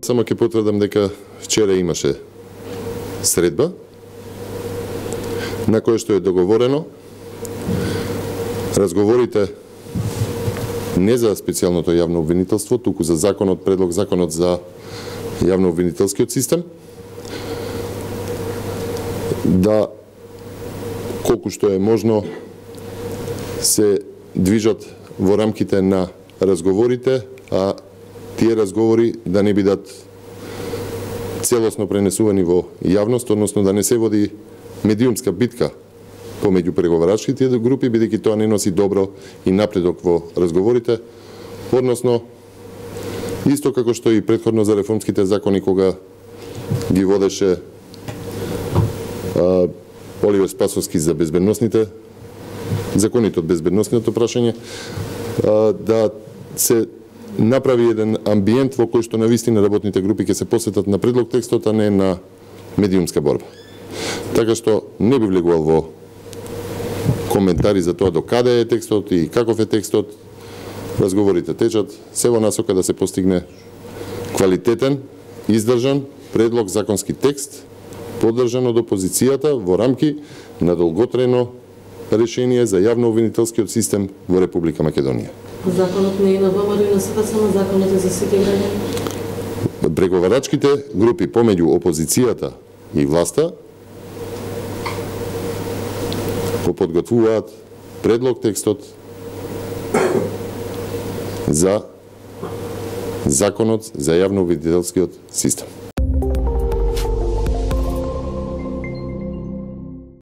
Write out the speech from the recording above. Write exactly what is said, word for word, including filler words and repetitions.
Само ќе потврдам дека вчера имаше средба на која што е договорено разговорите не за специјалното јавно обвинителство, туку за законот, предлог законот за јавно обвинителскиот систем, да колку што е можно се движат во рамките на разговорите, а тие разговори да не бидат целосно пренесувани во јавност, односно да не се води медиумска битка помеѓу преговарачките групи, бидејќи тоа не носи добро и напредок во разговорите, односно исто како што и претходно за реформските закони кога ги водеше а, Оливер Спасовски за безбедносните законите од безбедносното прашање, а, да се направи еден амбиент во кој што навистина работните групи ќе се посветат на предлог текстот, а не на медиумска борба. Така што не би влегувал во коментари за тоа до каде е текстот и каков е текстот. Разговорите течат се во насока да се постигне квалитетен, издржан предлог законски текст, поддржан од опозицијата во рамки на долготрено решение за јавно обвинителскиот систем во Република Македонија. Законот не е на ВМРО и на СДСМ, само законот е за сите граѓани. Преговарачките групи помеѓу опозицијата и власта го подготвуваат предлог текстот за законот за јавно обвинителскиот систем.